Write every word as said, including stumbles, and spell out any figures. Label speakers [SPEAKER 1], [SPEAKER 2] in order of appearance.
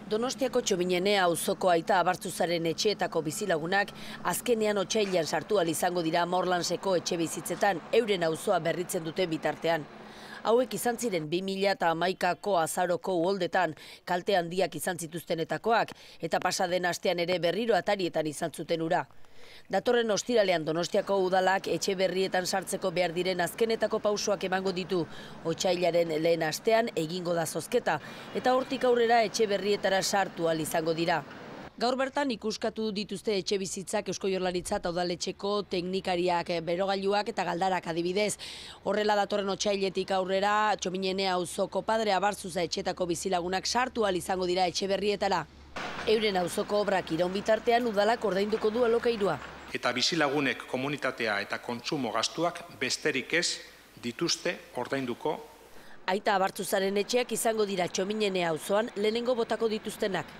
[SPEAKER 1] Donostiako Txominenea auzoko Aita Abartzuzaren etxeetako bizilagunak azkenean otsailean sartu ahal izango dira Morlanseko etxe bizitzetan euren auzoa berritzen duten bitartean. Hauek izan ziren bi mila hamaikako azaroko uholdetan kalte handiak izan zituztenetakoak eta pasaden astean ere berriro atarietan izan zuten ura. Datorren ostiralean Donostiako udalak etxe berrietan sartzeko behar diren azkenetako pausoak emango ditu. Otsailaren lehen astean egingo da zozketa eta hortik aurrera etxe berrietara sartu ahal izango dira. Gaur bertan ikuskatu dituzte etxe bizitzak Eusko Jaurlaritza eta udaletxeko teknikariak, berogailuak eta galdarak adibidez. Horrela datorren otsailetik aurrera Txominenea auzoko Padre Abartzuza etxetako bizilagunak sartu ahal izango dira etxe berrietara. Euren auzoko obrak iraun bitartean udalak ordainduko du alokairua.
[SPEAKER 2] Eta bizilagunek komunitatea eta kontsumo gastuak besterik ez dituzte ordainduko.
[SPEAKER 1] Aita Abartzuzaren etxeak izango dira Txominenea auzoan lehenengo botako dituztenak.